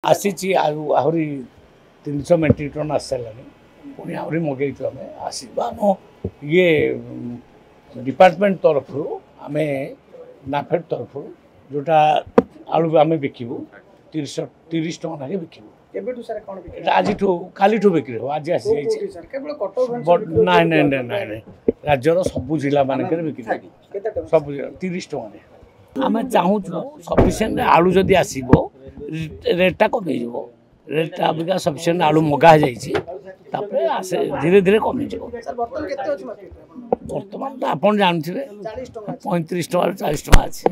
ଆସିଛି, ଆଉ ଆହୁରି 300 ମେଟ୍ରିକ୍ ଟନ୍ ଆସିସାରିଲାଣି। ପୁଣି ଆହୁରି ମଗେଇଛୁ ଆମେ, ଆସିବ। ଆମ ଇଏ ଡିପାର୍ଟମେଣ୍ଟ ତରଫରୁ, ଆମେ ନାଫେଡ଼ ତରଫରୁ ଯେଉଁଟା ଆଳୁ ଆମେ ବିକିବୁ, 330 ଟଙ୍କା ଲେଖେ ବିକିବୁ। କେବେଠୁ ସାର୍, କ'ଣ? ଏଇଟା ଆଜିଠୁ, କାଲିଠୁ ବିକ୍ରି ହେବ। ଆଜି ଆସିଯାଇଛି। ନାଇଁ ନାଇଁ ନାଇଁ ନାଇଁ ନାଇଁ, ରାଜ୍ୟର ସବୁ ଜିଲ୍ଲା ମାନଙ୍କରେ ବିକ୍ରି ହେବ। ସବୁ ଜିଲ୍ଲା 30 ଟଙ୍କାରେ। ଆମେ ଚାହୁଁଛୁ ସଫିସିଏଣ୍ଟ ଆଳୁ ଯଦି ଆସିବ, ରେଟ୍ଟା କମିଯିବ। ରେଟ୍ଟା ଅବିକା ସଫିସିଏଣ୍ଟ ଆଳୁ ମଗା ହେଇଯାଇଛି, ତାପରେ ଆସେ ଧୀରେ ଧୀରେ କମିଯିବ। ବର୍ତ୍ତମାନ ତ ଆପଣ ଜାଣିଥିବେ, 35 ଟଙ୍କାରୁ 40 ଟଙ୍କା ଅଛି।